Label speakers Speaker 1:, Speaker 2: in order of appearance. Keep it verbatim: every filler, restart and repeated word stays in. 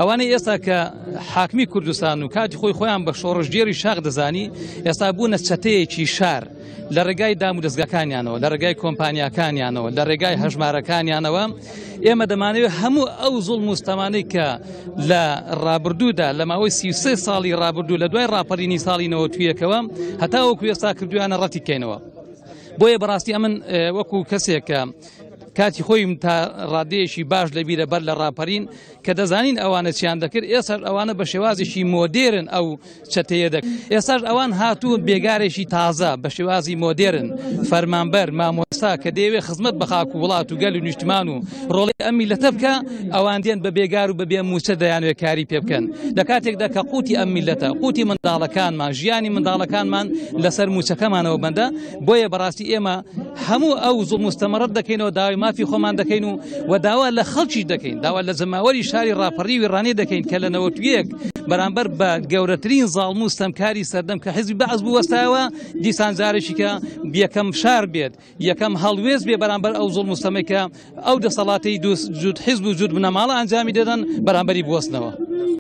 Speaker 1: ئەوانەی ئێستا کە حاکمی کوردستان و کاتی خۆی خۆیان بە شۆڕشگێڕی شاخ دەزانی، ئێستا بوونە چەتەیەکی شار لە ڕێگای دام و دەستگاکانیانەوە، لە ڕێگای کۆمپانیاکانیانەوە، لە ڕێگای هەژمارەکانیانەوە. ئێمە دەمانەوێت هەموو ئەو زوڵم و ستەمانەی کە لە ڕابردوودا لە ماوەی سی و سێ ساڵی ڕابردوو لە دوای ڕاپەڕینی ساڵی نەوەد و یەکەوە هەتاوەکو ئێستا کردویانە ڕەتی بکەینەوە. بۆیە بەڕاستی ئەمن وەکو کەسێک کە کاتی خۆیم تا ڕادەیەکی باش لەبیرە بەر لە ڕاپەرین کە دەزانین ئەوانە چیان دەکرد، ئێستاش ئەوانە بە شێوازێکی مۆدێرن ئەو چەتەیە دەکرد. ئێستاش ئەوان هاتوون بێگارێکی تازە بە شێوازی مۆدێرن، فەرمانبەر، مامۆستا کە دەیەوێت خزمەت بە خاک و وڵات و گەل و نیشتمان و ڕۆڵی ئەم میلەتە بکە، ئەوان دێن بە بێگار و بە بێ موچە دەیانوێت کاری پێ بکەن. لە کاتێکدا کە قوتی ئەم میلەتە، قوتی منداڵەکانمان، ژیانی منداڵەکانمان لەسەر موچەکەمانەوە بەندە. بۆیە بەڕاستی ئێمە هەموو ئەو زوڵم و ستەمە ڕەت دەکەینەوە، داوای مافی خۆمان دەکەین و و داوا لە خەڵکی دەکەین، داوا لە جەماوەری شاری ڕاپەڕیوی ڕانێ دەکەین کە لە نەوەد و یەک بەرامبەر بە گەورەترین زاڵم و ستەمکاری سەردەم کە حیزبی بەعس بوەستایەوە، دیسان جارێکی کە یەکەم شار بێت، یەکەم هەڵوێست بێ بەرامبەر ئەو زوڵم و ستەمەی کە ئەو دەسەڵاتەی جوود حیزب و جوود بنەماڵە ئەنجامی دەدەن بەرامبەری بوەستنەوە.